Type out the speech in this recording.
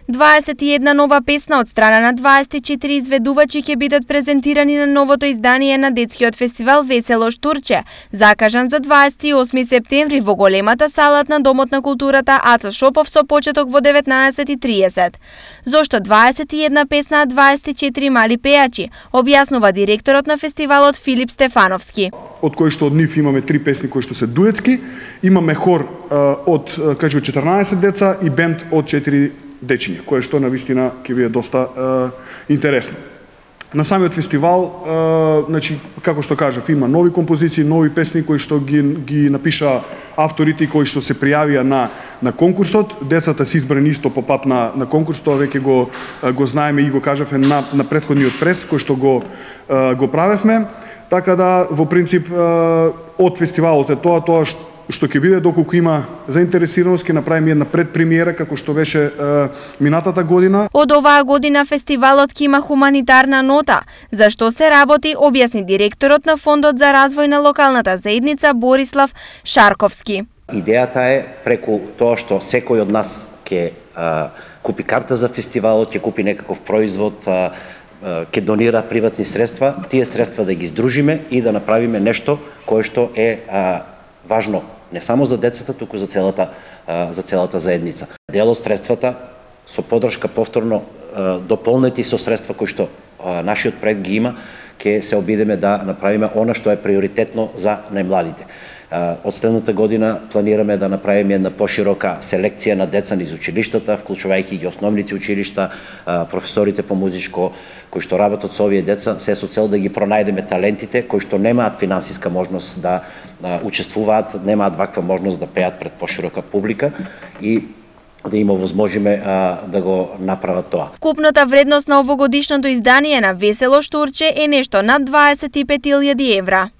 21 нова песна од страна на 24 изведувачи ќе бидат презентирани на новото издание на детскиот фестивал Весело Штурче, закажан за 28 септември во големата салат на Домот на културата Аца Шопов со почеток во 19:30. Зошто 21 песна, а 24 мали пејачи, објаснува директорот на фестивалот Филип Стефановски. Од кои што од нив имаме 3 песни кои што се дуетски, имаме хор од 14 деца и бенд од 4 дечиња, кое што навистина ќе биде доста интересно. На самиот фестивал, значи, како што кажав, има нови композиции, нови песни кои што ги напиша авторите кои што се пријавија на конкурсот. Децата се избрани исто по пат на конкурс, тоа веќе го знаеме и го кажавме на претходниот прес кој што го правевме. Така да, во принцип, од фестивалот е тоа што ќе биде, доколку има заинтересираност, ќе направиме една предпремиера како што беше минатата година. Од оваа година фестивалот ќе има хуманитарна нота. За што се работи, објасни директорот на Фондот за развој на локалната заедница Борислав Шарковски. Идејата е преку тоа што секој од нас ќе купи карта за фестивалот, ќе купи некаков производ, ќе донира приватни средства, тие средства да ги здружиме и да направиме нешто кое што е важно не само за децата, туку за целата заедница. Дел од средствата со подршка повторно дополнети со средства кои што нашиот проект ги има, ќе се обидеме да направиме она што е приоритетно за најмладите. Од следната година планираме да направиме една поширока селекција на деца низ училиштата, вклучувајќи ги основните училишта, професорите по музичко кои што работат со овие деца, се со цел да ги пронајдеме талентите кои што немаат финансиска можност да учествуваат, немаат ваква можност да пеат пред поширока публика и да им овозможиме да го направат тоа. Вкупната вредност на овогодишното издание на Весело Штурче е нешто над 25.000 евра.